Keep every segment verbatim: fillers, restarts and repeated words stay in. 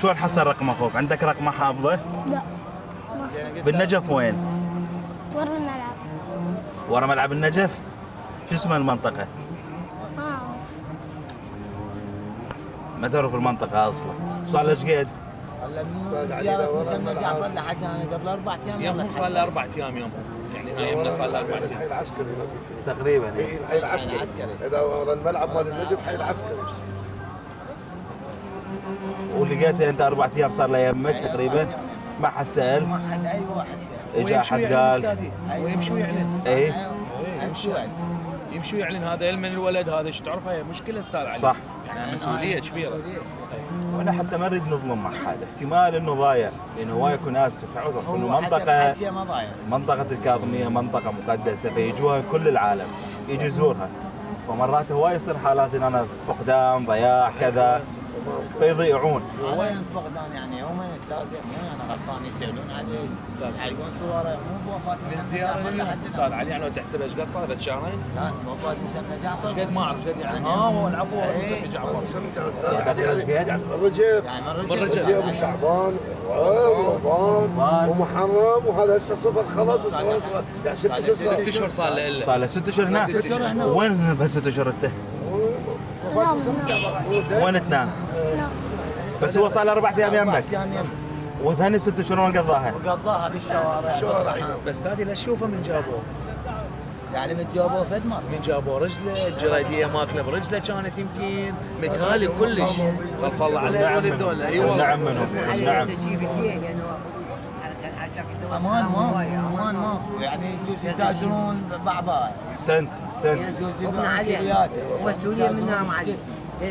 شلون حصل رقم اخوك؟ عندك رقمه حافظه؟ لا. بالنجف وين؟ ورا الملعب. ورا ملعب النجف؟ شو اسم المنطقة؟ ما اعرف. ما تعرف المنطقة اصلا، صار له ايش قد؟ هلا من زيارة مسمى جعفر لحد انا قبل اربع ايام يوم صار له اربع ايام يوم يعني يومنا صار له اربع ايام. الحي العسكري تقريبا اي الحي العسكري. اذا ورا الملعب مال النجف حي العسكري. ولقيته انت اربع ايام صار له يمك تقريبا؟ ما حد سأل؟ ما حد اي واحد سأل. اجى احد قال؟ ويمشي ويعلن. اي يمشي ويعلن. يمشي ويعلن هذا علم الولد هذا ايش تعرفها هي مشكلة استاذ علي. صح. يعني مسؤولية كبيرة. وانا حتى ما نريد نظلم مع حد، احتمال انه ضايع لانه هواي اكو ناس تعرف انه منطقه منطقه الكاظميه منطقه مقدسه فيجوها كل العالم يجي يزورها، فمرات هواي يصير حالات ان انا فقدان ضياع كذا فيضيعون. وين الفقدان يعني يومين ثلاثه مو انا غلطان يسالون عليه يعلقون صوره مو بوفاه من الزياره لليوم استاذ علي يعني لو تحسب ايش قصه ثلاث شهرين؟ لا وفاه مسمى جعفر. ايش قد ما اعرف ايش قد يعني اه هو العفو مسمى جعفر. يعني الرجب من رجب ابو شعبان ورمضان ومحرم وهذا هسه صفر خلص يعني ست اشهر ست اشهر صار له الا صار له ست اشهر هنا. وين بهالست اشهر انت؟ وين تنام؟ بس هو صار له اربع ايام يمك وثاني ست اشهر وين قضاها؟ قضاها بالشوارع. بس هذه لا تشوفه من جابوه يعني من جابوه فدمر من جابوه رجله الجريديه ماكله برجله كانت يمكن متهالي كلش خلف الله عليه الولد ولا اي والله نعم منهم نعم امان ما امان ما يعني يجوز يتاجرون بعضها احسنت احسنت يجوز يبنى عليه ومسؤوليه منا مع علي ليش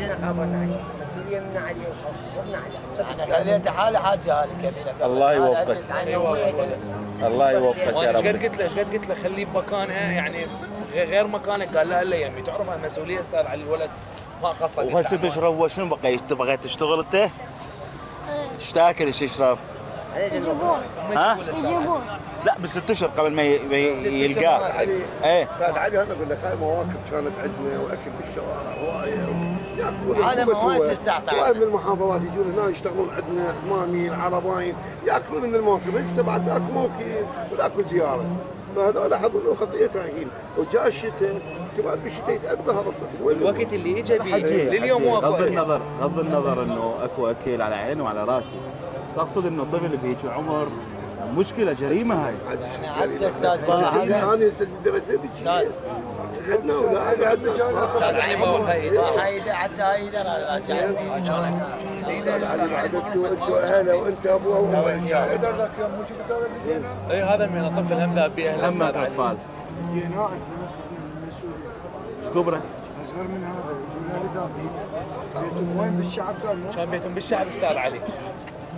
انا خابرنا عليه مسؤوليه منا عليه وخبرنا عليه انا خليته حاله حاجه هذه كفيله الله يوفقك الله يوفقك يا رب. ايش قد قلت له ايش قد قلت له خليه بمكانها يعني غير مكانك قال لا الا يمي تعرف المسؤوليه استاذ علي الولد ما قصر. وهالست اشهر هو شنو بقى تبغى تشتغل انت؟ ايش تاكل ايش تشرب؟ يجيبون. ها؟ يجيبون. لا بست اشهر قبل ما يلقاك. ايه استاذ علي انا اقول لك هاي مواكب كانت عندنا واكل بالشوارع هوايه ياكلون هذا مواد تستعطى. هواي من المحافظات يجون هنا يشتغلون عندنا حمامين عرباين ياكلون من المواكب هسه بعد اكو موكب واكو زياره فهذول حضروا خطيتها هين وجاء الشتاء احتمال بالشتاء يتاذى هذا الطفل الوقت اللي اجى به لليوم واكو غض النظر غض النظر انه اكو اكل على عيني وعلى راسي بس اقصد انه الطفل بهيك عمر مشكله جريمه هاي يعني عدت استاذ بابا انا سدرت بشيء عندنا اولاد عندنا استاذ علي ما هو هاي هاي حتى هاي انتوا اهله وانت ابوه وامه اي هذا من طفل هم ذاب به اهله هم اطفال ايش كبره؟ اصغر من هذا يقول لي ذابين بيتهم وين بالشعب؟ كان بيتهم بالشعب استاذ علي